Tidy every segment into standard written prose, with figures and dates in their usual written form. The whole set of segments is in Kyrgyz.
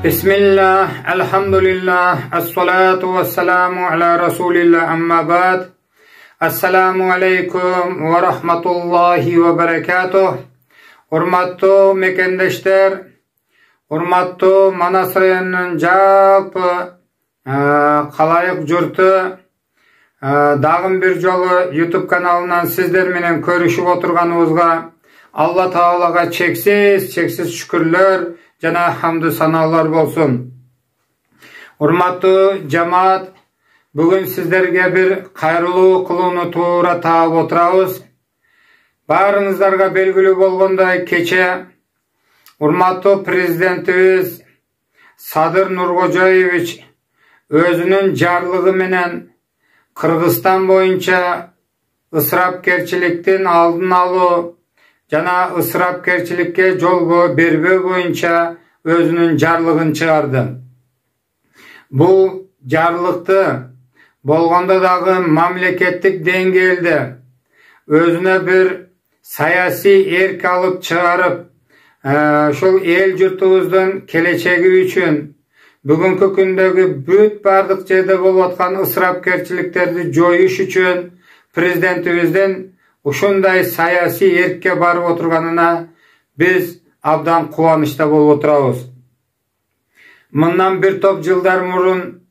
Bismillah, elhamdülillah, as-salatu was-salamu ala Rasulillah, amma ba'd. Assalamu alaikum ve rahmatullahi ve berekatuh. Hurmatlı mekendeşler, hurmatlı Manas rayonunun жалпы kalayık jurtu, dagın bir jolu YouTube kanalından sizler menen көрүшүп oturганыбызга Allah Taalaga çeksiz şükürler jana hamdı sanalar bolsun. Hurmatlı cemaat, bugün sizlerge bir kayırlуу kılууну tuura taap oturabыз. Barыңыздарга белгилүү болгондой, кече урматтуу президентибиz Садыр Нуркожоевич өзүнүн жарлыгы менен Кыргызстан боюнча ысырапкерчиликтин алдын алуу жана ысырапкерчиликке жол бербөө боюнча өзүнүн жарлыгын чыгарды. Бул жарлыкты болгондо дагы мамлекеттик деңгээлде өзүнө bir саясий эрк алып чыгарып, ошол эл журтубуздун келечеги үчүн бүгүнкү күндөгү бүт бардык жерде болуп аткан ысырапкерчиликтерди жоюш үчүн президентибиздин ушундай саясий эркке барып отурганына биз абдан кубанычта болуп отурабыз. Мындан bir топ жылдар мурун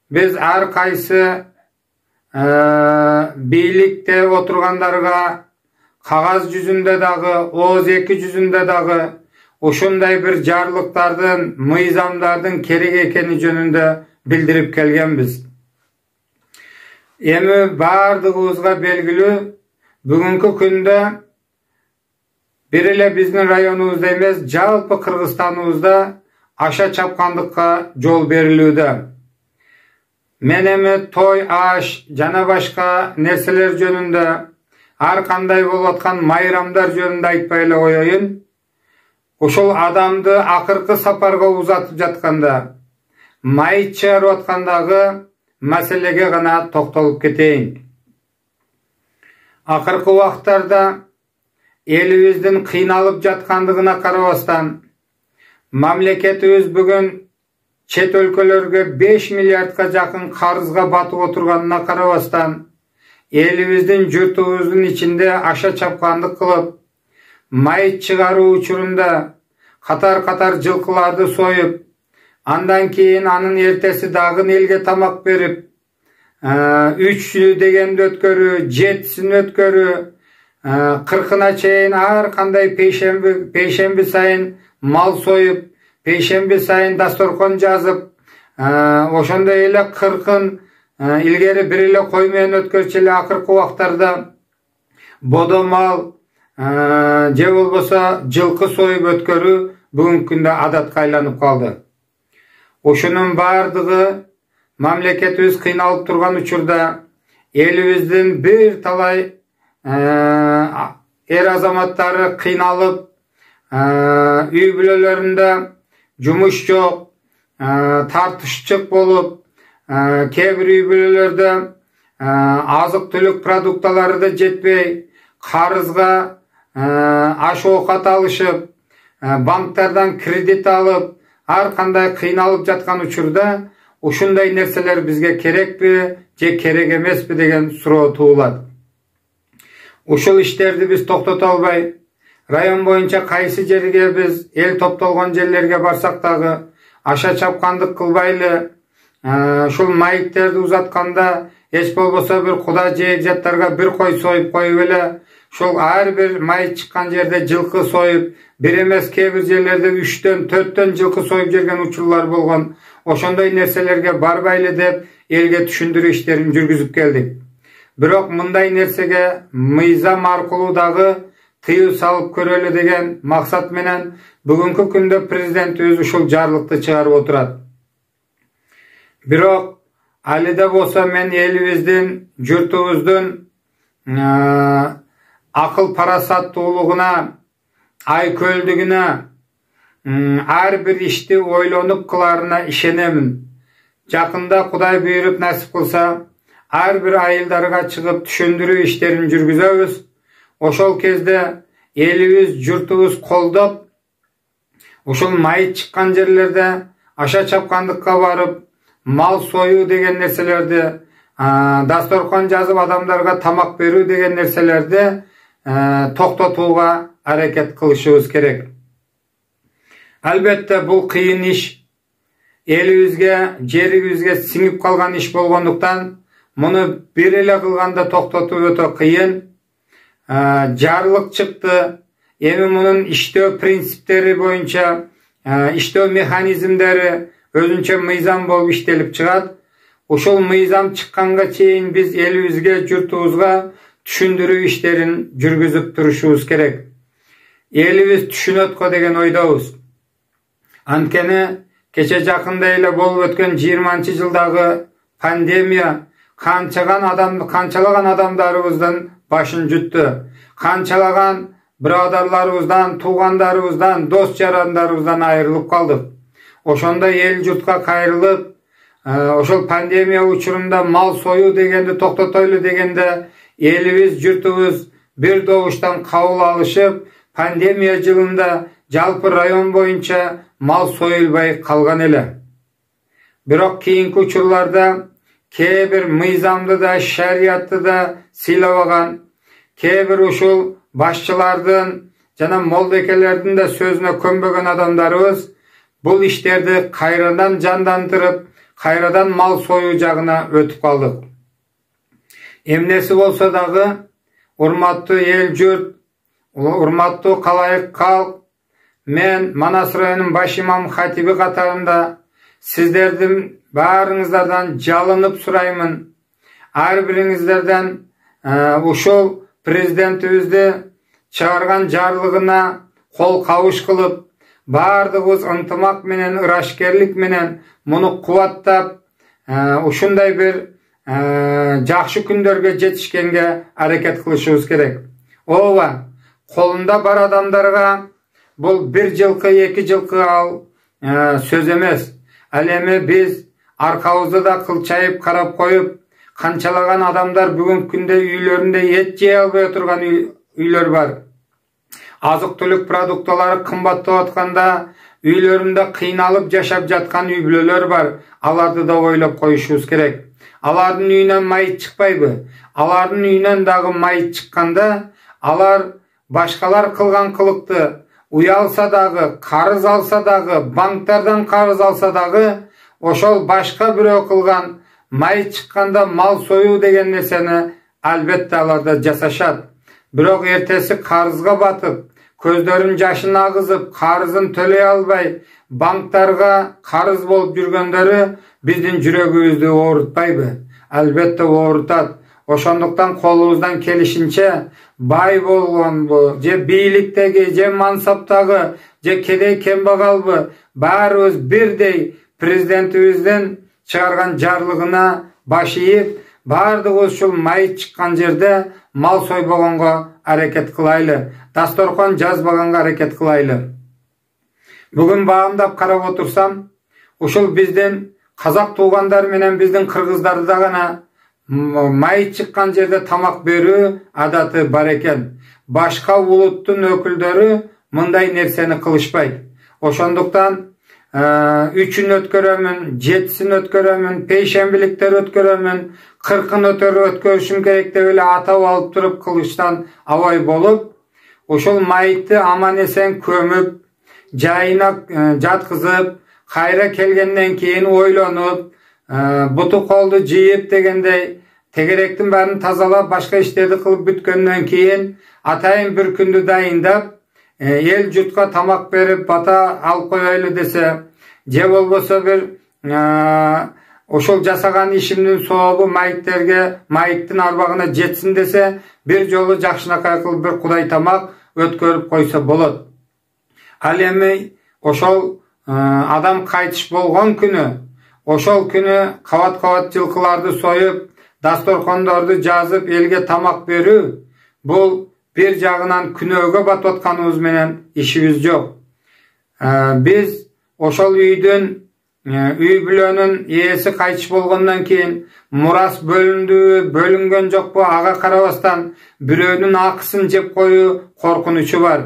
биз ар кайсы бийликте отургандарга кагаз жүзүндө дагы, ооз эки жүзүндө дагы ушундай bir жарлыктардын, мыйзамдардын керек экени жөнүндө билдирип келгенбиз. Эми бардыгыбызга белгилүү, бүгүнкү күндө бир эле биздин районубузда эмес, жалпы Кыргызстаныбызда аша чапкандыкка жол берилүүдө. Мен эми той, аш жана башка нерселер жөнүндө, ар кандай болуп аткан майрамдар жөнүндө айтпай эле коеюн. Ошол адамды акыркы сапарга узатып жатканда, майыт чыгарып аткандагы маселеге гана токтолуп кетейин. Акыркы убактарда элибиздин кыйналып жаткандыгына карабастан, мамлекетибиз бүгүн чет өлкөлөргө 5 миллиардка жакын карызга батып отурганына карабастан, элибиздин журтубуздун ичинде аша чапкандык кылып, майыт чыгаруу учурунда катар жылкыларды союп, андан кийин анын эртеси дагы элге тамак берип, 3 дегенди өткөрүү, 7-син өткөрүү, 40-на чейин ар кандай пейшемби сайын мал союп, пейшемби сайын дасторкон жазып, ошондой эле 40-ын илгери бир эле кой менен өткөрчү эле акыркы убактарда бодо мал же болбосо жылкы союп өткөрүү бүгүнкү күндө адатка айланып калды. Ошонун бардыгы мамлекетибиз кыйналып турган учурда элибиздин бир талай эр азаматтары кыйналып, үй бүлөлөрүндө жумуш жок, тартышчык болуп, кээ бир үй бүлөлөрдө азык түлүк продукталары да жетпей, карызга аш оокат алышып, банктардан кредит алып, ар кандай кыйналып жаткан учурда ушундай нерселер бизге керекпи же керек эмеспи деген суроо туулат. Ушул иштерди биз токтото албай, район боюнча кайсы жерге биз эл топтолгон жерлерге барсак дагы аша чапкандык кылбайлы, ушул майыттерди узатканда эч болбосо bir куда жээкжаттарга bir кой союп коюп эле, ушул ар бир майыт чыккан жерде жылкы союп, бир эмес кээ бир жерлерде 3-төн 4-төн жылкы союп жүргөн учурлар болгон. Ошондой нерселерге барбайлы деп элге түшүндүрүү иштерин жүргүзүп келдик. Бирок мындай нерсеге мыйзам аркылуу дагы тыюу салып көрөлү деген максат менен бүгүнкү күндө президентибиз ушул жарлыкты чыгарып отурат. Бирок али да болсо мен элибиздин, журтубуздун акыл парасаттуулугуна, айкөлдүгүнө, ар бир ишти ойлонуп кыларына ишенемин. Жакында Кудай буйруп насип кылса, ар бир айылдарга чыгып түшүндүрүү иштерин жүргүзөбүз. Ошол кезде элибиz, журтубуз колдоп, ушул майыт чыккан жерлерде аша чапкандыкка барып, мал союу деген нерселерди, дасторкон жазып адамдарга тамак берүү деген нерселерди токтотууга аракет кылышыбыз керек. Албетте бул кыйын иш, элибизге, жерибизге сиңип калган иш болгондуктан муну бир эле кылганда токтотуу өтө кыйын. Жарлык чыкты. Эми мунун иштөө принциптери боюнча, иштөө механизмдери өзүнчө мыйзам болуп иштелип чыгат. Ушул мыйзам чыкканга чейин биз элибизге, журтубузга түшүндүрүү иштерин жүргүзүп турушубуз керек. Элибиз түшүнөт го деген ойдобуз. Анткени кече жакында эле болуп өткөн 20-жылдагы пандемия канчалаган адамдарыбыздын башын жутту. Канчалаган бирадарларыбыздан, туугандарыбыздан, дос жарандарыбыздан айрылып калдык. Ошондо эл журтка кайрылып, ошол пандемия учурунда мал союу дегенди токтотойлу дегенде элибиз, журтубуз бир добуштан кабыл алышып, пандемия жылында жалпы район боюнча мал союлбай калган эле. Бирок кийинки учурларда кээ бир мыйзамды да, шариятты да сыйлабаган, кээ бир ушул башчылардын жана молдекелердин да сөзүнө көнбөгөн адамдарыбыз бул иштерди кайрадан жандандырып, кайрадан мал союу жагына өтүп калдык. Эмнеси болсо дагы, урматтуу эл журт, урматтуу калайык калк, мен Манас районунун баш имам хатиби катарында сиздердин баарыңыздардан жалынып сураймын. Ар бириңиздерден ушул президентибизди чыгарган жарлыгына кол кабыш кылып, баардыгыбыз ынтымак менен, ырашкерлик менен муну кубаттап, ушундай бир жакшы күндөргө жетишкенге аракет кылышыбыз керек. Ооба, колунда бар адамдарга бул бир жылкы, 2 жылкы ал сөз эмес. Ал эми биз аркабызды да кылчайып карап коюп, канчалаган адамдар бүгүнкү күндө үйлөрүндө эт жей албай отурган үйлөр бар. Азык-түлүк продукталары кымбаттап атканда үйлөрүндө кыйналып жашап жаткан үй бүлөлөр бар. Аларды да ойлоп коюшубуз керек. Алардын үйүнөн майыт чыкпайбы? Алардын үйүнөн дагы майыт чыкканда, алар башкалар кылган кылыкты уялса дагы, карыз алса дагы, банктардан карыз алса дагы, ошол башка бирөө кылган майыт чыкканда мал союу деген нерсени албетте аларда жасашат. Бирок эртеси карызга батып, көздөрүн жашын агызып, карызын төлөй албай, банктарга карыз болуп жүргөндөрү биздин жүрөгүбүздү оорутпайбы? Албетте оорутат. Ошондуктан колубуздан келишинче бай болгонбу, же бийликтеги, же мансаптагы, же кедей кембагалбы, баарыбыз бирдей президентибиздин чыгарган жарлыгына баш ийип, баардыгыбыз ушул майыт чыккан жерде мал сойбогонго аракет кылайлы, дасторкон жазбаганга аракет кылайлы. Бүгүн баамдап карап отурсам, ушул биздин казак туугандар менен биздин кыргыздарда гана майыт чыккан жерде тамак берүү адаты бар экен. Башка улуттун өкүлдөрү мындай нерсени кылышпайт. Ошондуктан 3-үн өткөрөмүн, 7-син өткөрөмүн, пейшембиликтер өткөрөмүн, 40-ын өткөрүшүм керек деп эле атап алып туруп кылыштан абай болуп, ошол майытты аман эсен көмүп, жайына жаткызып, кайра келгенден кийин ойлонуп, буту колду жыйып дегендей, тегеректин баарын тазалап, башка иштерди кылып бүткөндөн кийин атайын бир күндү дайындап, эл журтка тамак берип, бата алып коелу десе, же болбосо бир ошол жасаган ишимдин сообу майыттерге, майыттын арбагына жетсин десе, бир жолу жакшынакай кылып бир кудай тамак өткөрүп койсо болот. Ал эми ошол адам кайтыш болгон күнү, ошол күнү кабат-кабат жылкыларды союп, дасторкондорду жазып, элге тамак берүү, бул бир жагынан күнөөгө батып атканыбыз менен ишибиз жок. Биз ошол үй бүлөнүн ээси кайтыш болгондон кийин мурас бөлүндүбү, бөлүнгөн жокпу, ага карабастан бирөөнүн акысын жеп коюу коркунучу бар.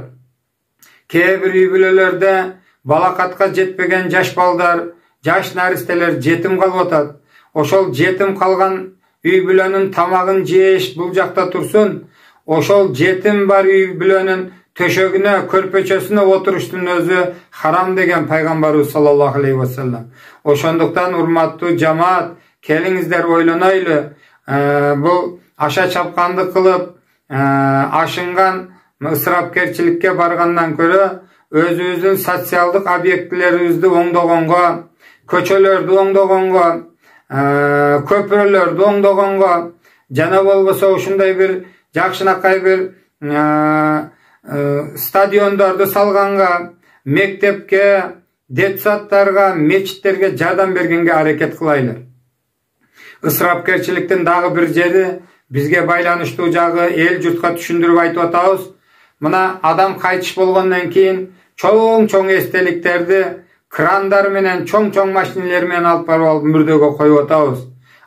Кээ бир үй бүлөлөрдө балакатка жетпеген жаш балдар жаш наристелер жетим калып атат. Ошол жетим калган үй бүлөнүн тамагын жеш бул жакта турсун. Ошол жетим бар үй бүлөнүн төшөгүнө, көрпөчөсүнө отуруштун өзү харам деген пайгамбарыбыз саллаллаху алейхи ва саллям. Ошондуктан урматтуу жамаат, келиңиздер ойлонойлу. Бул аша чапкандык кылып, ашынган ысырапкерчиликке баргандан көрө өзүбүздүн социалдык объектилерибизди оңдогонго, көчөлөрдү оңдогонго, көпүрөлөрдү оңдогонго, жана болбосо ушундай бир жакшынакай бир стадиондорду салганга, мектепке, детсадтарга, мечиттерге жардам бергенге аракет кылайлы. Ысырапкерчиликтин дагы бир жери, бизге байланыштуу жагы эл журтка түшүндүрүп айтып атабыз. Мына адам кайтыш болгондон кийин чоң эстеликтерди крандар менен, чоң машинелер менен алып барып мүрдөгө коюп атабыз.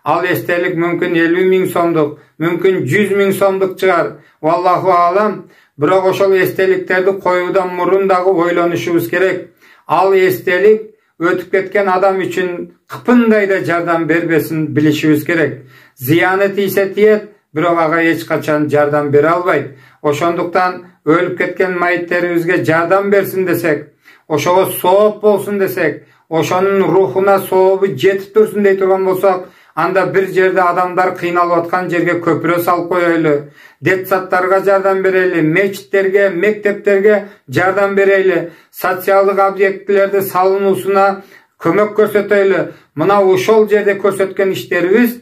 Ал эстелик мүмкүн 50 000 сомдук, мүмкүн 100 000 сомдук чыгар. Валлаху алам. Бирок ошол эстеликтерди коюудан мурун дагы ойлонушубуз керек. Ал эстелик өтүп кеткен адам үчүн кыпындай да жардам бербесин билишибиз керек. Зыяны тийсе тиет, бирок ага эч качан жардам бере албайт. Ошондуктан өлүп кеткен майиттерибизге жардам берсин десек, ошого сооп болсун десек, ошонун рухуна сообу жетип турсун дей турган болсок, анда бир жерде адамдар кыйналып аткан жерге көпүрө салып коелу, детсадтарга жардам берели, мечиттерге, мектептерге жардам берели, социалдык объектилерди салынуусуна көмөк көрсөтөлү. Мына ошол жерде көрсөткөн иштерибиз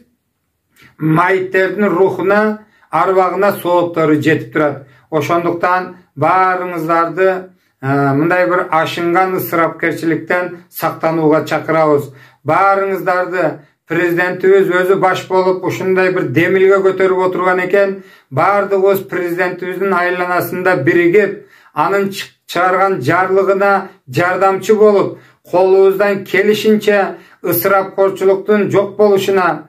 майиттердин рухуна, арбагына сооптору жетип турат. Ошондуктан баарыңыздарды мындай бир ашынган ысырапкерчиликтен сактанууга чакырабыз. Баарыңыздарды президентибиз өзү баш болуп ушундай бир демилге көтөрүп отурган экен. Баардыгыбыз президентибиздин айланасында биригип, анын чыгарган жарлыгына жардамчы болуп, колубуздан келишинче ысырапкорчулуктун жок болушуна,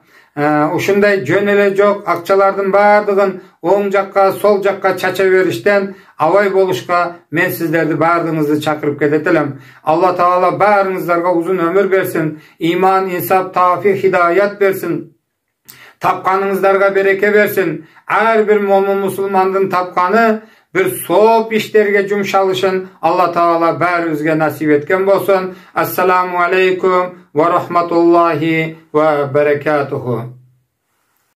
ушундай жөн эле жок акчалардын баардыгын оң жакка, сол жакка чача бериштен абай болушка мен сиздерди баардыгыңызды чакырып кетет элем. Алла Таала баарыңыздарга узун өмүр берсин, иман, инсап, таафик, хидаят берсин. Тапканыңыздарга береке берсин. Ар бир момун мусулмандын тапканы bir sooп иштерге жумшалышын Алла Таала баарыбызга насип эткен болсун. Ассаламу алейкум ва рахматуллахи ва баракатуху.